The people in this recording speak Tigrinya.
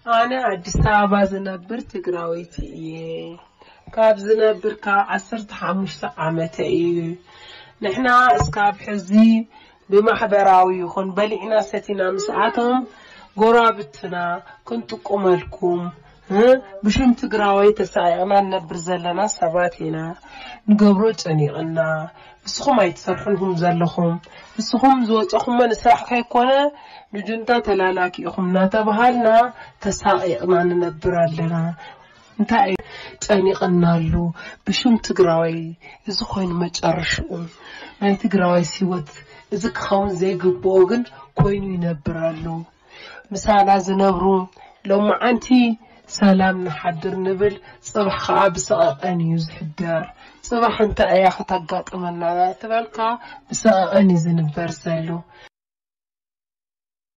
ኣነ ኣዲስ ኣበባ ዝነብር ትግራወይቲ እየ። ካብ ዝነብር ካብ ዓሰርተ ሓሙሽተ ዓመተ እዩ። ንሕና እስካብ ሕዚ ብማሕበራዊ ይኹን በሊዕና ሰቲና ምስኣቶም ጎራብትና ክንጥቁመልኩም፣ እ፣ ብሽም ትግራዋይ ተሳቂቕና ንነብር ዘለና ሰባት ኢና። ንገብሮ ጨኒቕና፣ ንስኹም ኣይትሰርሑን ኢኹም ዘለኹም። ንስኹም ዝወፀኹሞ ንስራሕ ከይኮነ ንጁንታ ተላላኪ ኢኹም እናተባሃልና ተሳቂቕና ንነብር ኣለና። እንታይ እዩ ጨኒቕና ኣሎ? ብሽም ትግራዋይ እዚ ኮይኑ መጨረሽኡ ናይ ትግራዋይ ህይወት እዚ ክኸውን ዘይግብኦ ግን ኮይኑ ይነብር ኣሎ። ምሳና ዝነብሩ ሎማዓንቲ ሰላም ንሓድር ንብል፣ ፅባሕ ከዓ ብሰቐቐን እዩ ዝሕደር። ፅባሕ እንታይ እያ ከተጋጥመና እናተበልካ ብሰቐቐን እዩ ዝንበር ዘሎ።